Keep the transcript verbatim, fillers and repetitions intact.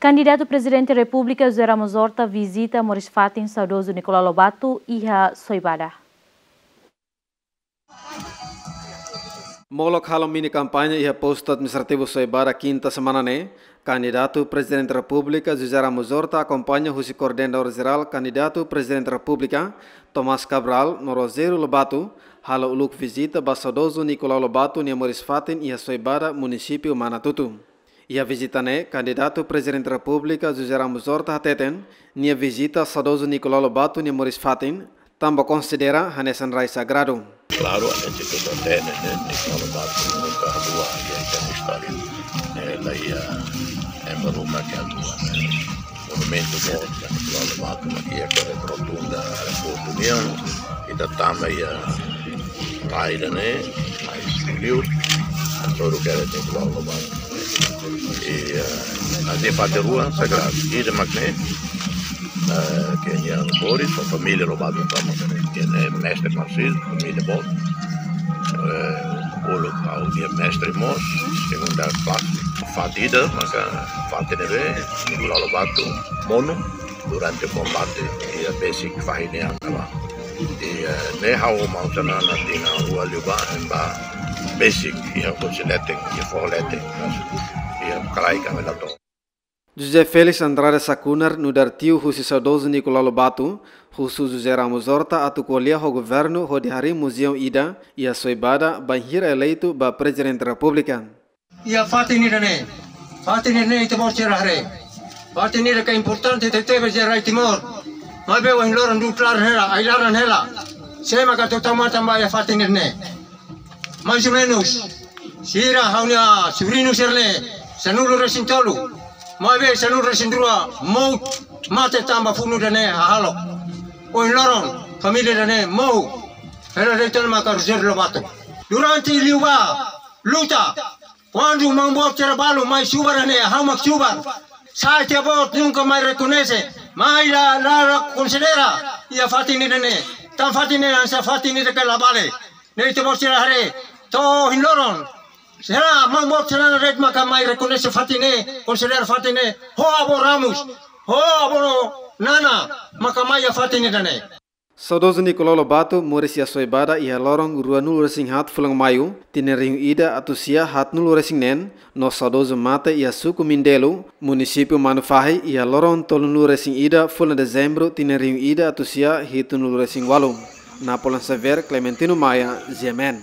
Kandidatu Prezidente Repúblika José Ramos Horta vizita moris-fatin saudozu Nicolau Lobato iha Soibada. Molok halo mini kampaña iha postu administrativu Soibada, kinta semana ne'e, kandidatu Prezidente Repúblika José Ramos Horta akompaña husi Koordenadór Jerál kandidatu Prezidente Repúblika, Tomás Cabral, no Rogério Lobato, halo uluk vizita ba saudozu Nicolau Lobato nia moris-fatin iha Soibada, munisípiu Manatuto. Iha vizita ne'e, kandidatu Prezidente Repúblika José Ramos Horta hateten, nia vizita saudozu Nicolau Lobato nia moris-fatin tanba konsidera hanesan rai sagradu. Klaru, a gente tudo tem, né? Nicolau Lobato nunka haluha iha ita-nia istória. Eh, la iha ema ruma ke haluha, né? Monumentu boot, né? Nicolau Lobato, mas iha kada rotunda, aeroportu nian, ita tama iha rai ida-ne'e, mais liu, todo quer Nicolau Lobato. I, eh, a de fatin rua sagradu. Ida mak ne'e, eh, ke nia moris, sua família Lobato tama, ke ne'e mestre Narciso, família boot. Eh, uluk ha'u-nia mestre mós, segunda klase. Fatin ida, maka fatin ne'ebé Nicolau Lobato monu durante kombate iha besik fahi nia an ne'ebá. I, eh, ne'e ha'u ho maun Xanana tinan rua liubá, ema ba besik iha kursi leten, iha foho leten, iha kalaik ami la to'o. José Félix Andrade Sakunar, nu'udar tiu husi saudozu Nicolau Lobato, husu José Ramos Horta atu ko'alia ho governu hodi harii muzeu ida iha Soibada bainhira eleitu ba Prezidente Repúblika. Iha fatin ida-ne'e, fatin ida-ne'e ita-boot sira haree. Fatin ida ke importante tebetebes iha rai Timor. Maibé ohin loron du'ut laran hela, ai-laran hela. Sé maka tau matan ba iha fatin ida-ne'e. Mais ou menus, sira ha'u-nia sobriñu sira-ne'e, sanulu-resin-tolu. Maibé sanulu-resin-rua mout mate tanba funu ida-ne'e hahalok. Ohin loron, família ida-ne'e mout. Hela de'it ona maka Rogério Lobato. Durante liubá, luta, kuandu maun boot sira balu mai subar ne'e, ha'u mak subar. Sa'e tia-boot nunka mai rekoñese, mai la, la, la konsidera iha fatin ida-ne'e. Tan fatin ne'e hanesan fatin ida ke la vale. Ne'e ita-boot sira haree, to'o ohin loron. Será maun boot sira-ne'e de'it maka mai rekoñese fatin ne'e, konsidera fatin ne'e, ho avó Ramos, ho avó Nana, maka mai iha fatin ida-ne'e. Saudozu Nicolau Lobato moris iha Soibada iha loron ruanulu-resin-haat fulan Maiu, tinan rihun ida atus sia haatnulu-resin-neen, no saudozu mate iha suku Mindelo, munisípiu Manufahi, iha loron tolunulu-resin-ida fulan Dezembru, tinan rihun ida atus sia hitunulu-resin-ualu. Napoleon Xavier, Clementino Maia, G M N.